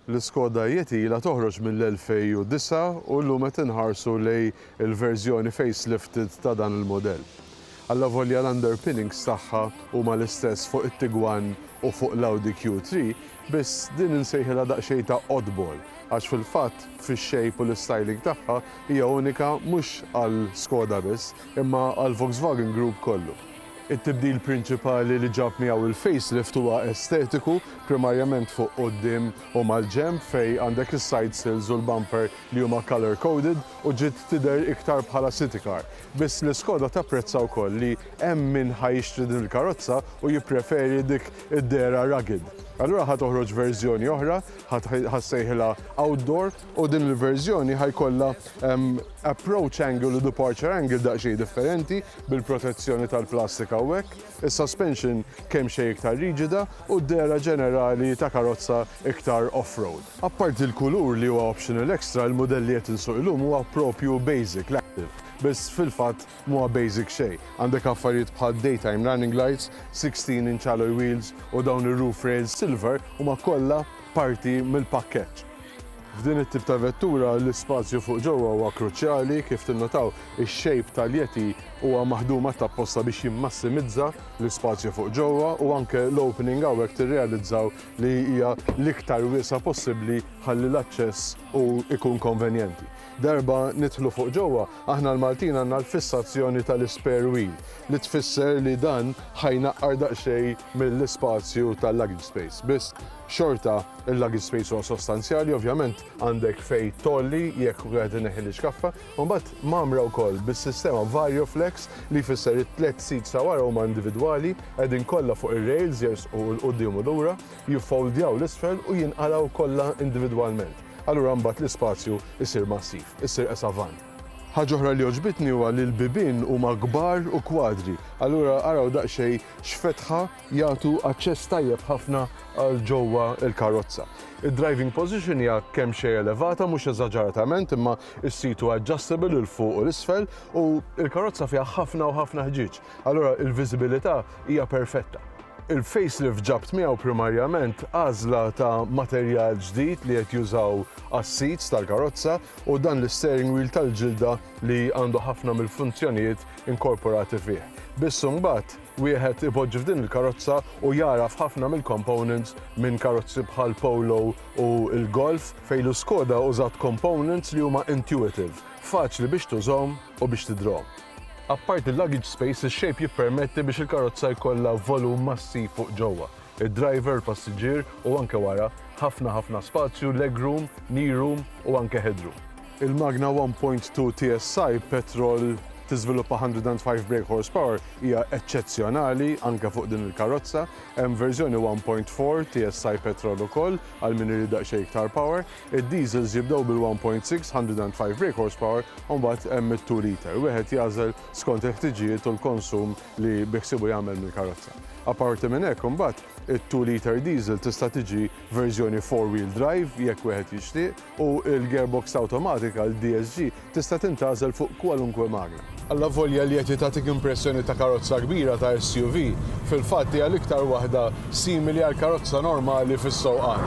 L-Iskoda Yeti ilha toħroġ mill-2009 u llum qed inħarsu lejn il-verżjoni facelifted ta' dan il-mudell. Allavolja l-underpinnings tagħha huma l-istess fuq it-Tiguan u fuq l-Audi Q3, biss din insejħilha daqsxejn ta' oddball għax fil-fatt fix-shape u l-istyling tagħha hija unika mhux għal Skoda biss imma għall-Volkswagen Group kollu. It-tibdil prinċipali li ġab miegħu il-facelift huwa estetiku, primarjament fuq quddiem u mal-ġenb fejn għandek is-side sills u l-bumper li huma colour coded u ġiet tidher iktar bħala city car. Biss l-Iskoda tapprezza wkoll li hemm min ħa jixtri din il-karozza u jippreferi dik id-dehra rugged. Allura ħa toħroġ verżjoni oħra, ħa ssejħilha outdoor u din il-verżjoni ħa jkollha approach angle u departure angle daqsxejn differenti bil-protezzjoni tal-plastik hawnhekk, is-suspension kemxejn iktar riġida u d-dehra ġenerali ta' karozza iktar off-road. Apparti l-kulur li huwa optional extra, il-mudell li qed insuq illum huwa propju basic, l-active, biss fil-fatt m'huwa basic xejn. Għandek affarijiet bħal daytime running lights, 16 inch alloy wheels u dawn ir-roof rails silver huma kollha parti mill-pakkeġġ. F'din it-tip ta' vettura l-ispazju fuq ġewwa huwa kruċjali, kif tinnotaw ix-shape tal-Yeti huwa maħdum apposta biex jimmassimizza l-ispazju fuq ġewwa u anke l-opening hawnhekk tirrealizzaw li hija l-iktar wiesgħa possibbli ħalli l-aċċess u ikun konvenjenti. Darba nidħlu fuq ġewwa, aħna l-Maltin għandna l-fissazzjoni tal-spare wheel li tfisser li dan ħa jnaqqar daqsxejn mill-ispazju tal-luggage space. Biss xorta il-luggage space huwa sostanzjali, ovvjament għandek fej tolli jekk wieħed ineħħi l-iċkaffa, u mbagħad mgħammra wkoll bis-sistema VarioFlex li jfisser it-tliet seats ta' wara huma individwali, qegħdin kollha fuq ir-rails jersqu 'l quddiem u lura, jiffoldjaw 'l isfel u jinqalgħu kollha individwalment. Allura mbagħad l-ispazju jsir massiv, issir qisha van. Ħaġa oħra li għoġbitni huwa li l-bibien huma kbar u kwadri. Allura araw daqsxejn x'fetħa jagħtu aċċess tajjeb ħafna għal ġewwa l-karozza. Id-driving position hija kemxejn elevata, mhux eżaġeratament, imma s-seat huwa adjustable 'il fuq u 'l isfel u l-karozza fiha ħafna u ħafna ħġieġ. Allura il-viżibilità hija perfetta. Il-facelift ġabt miegħu primarjament għażla ta' materjal ġdid li qed jużaw għas-seats tal-karozza u dan l-steering wheel tal-ġilda li għandu ħafna mill-funzjonijiet inkorporati fih. Biss imbagħad wieħed ipoġġi f'din il-karozza u jaraf ħafna mill-components minn karozzi bħal Polo u l-Golf fejn l-Skoda użat components li huma intuitive, faċli biex tużhom u biex tidrhom. Apparti il-luggage space, il-shape jippermetti biex il-karozza jkollha volum massiv fuq ġewwa. Il-driver, il-passiġġier u anke wara, ħafna ħafna spazju, legroom, knee room u anke headroom. Il-Magna 1.2 TSI petrol tiżviluppa 105 brake horsepower hija eċċezzjonali anke fuq din il-karozza. Hemm verżjoni 1.4 TSI petrol ukoll għal min irid daqsxejn iktar power. Id-diesels jibdew bil-1.6 105 brake horsepower u mbagħad hemm it-2 liter. Wieħed jagħżel skont il-ħtiġijiet u l-konsum li biħsiebu jagħmel mill-karozza. Apparti minn hekk imbagħad it-2 liter diesel tista' tiġi verżjoni 4-wheel drive jekk wieħed jixtieq u l-gearbox awtomatika l-DSG tista' tintgħażel fuq kwalunkwe magna. Allavolja li qed tagħtik impressjoni ta' karozza kbira ta' SUV, fil-fatt hija l-iktar waħda simili għal karozza normali fis-sewqan.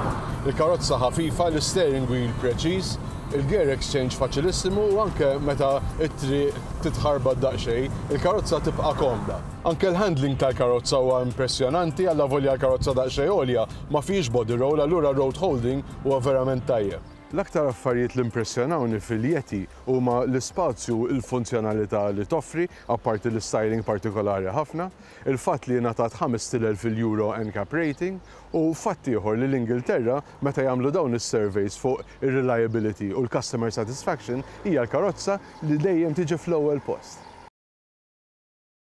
Il-karozza ħafifa, l-steering wheel preċiż, il-gear exchange faċilissimu u anke meta t-triq titħarbat daqsxejn, il-karozza tibqa' komda. Anke l-handling tal-karozza huwa impressjonanti, allavolja l-karozza daqsxejn għolja ma fihiex body roll, allura road holding huwa verament tajjeb. L-aktar affarijiet li impressjonawni fil-Yeti huma l-ispazju u l-funzjonalità li toffri, apparti l-styling partikolari ħafna, il-fatt li ngħatat 5,000 il-Euro NCAP rating u fatt ieħor li l-Ingilterra meta jagħmlu dawn is-surveys fuq ir-reliability u l-customer satisfaction hija l-karozza li dejjem tiġi fl-ewwel post.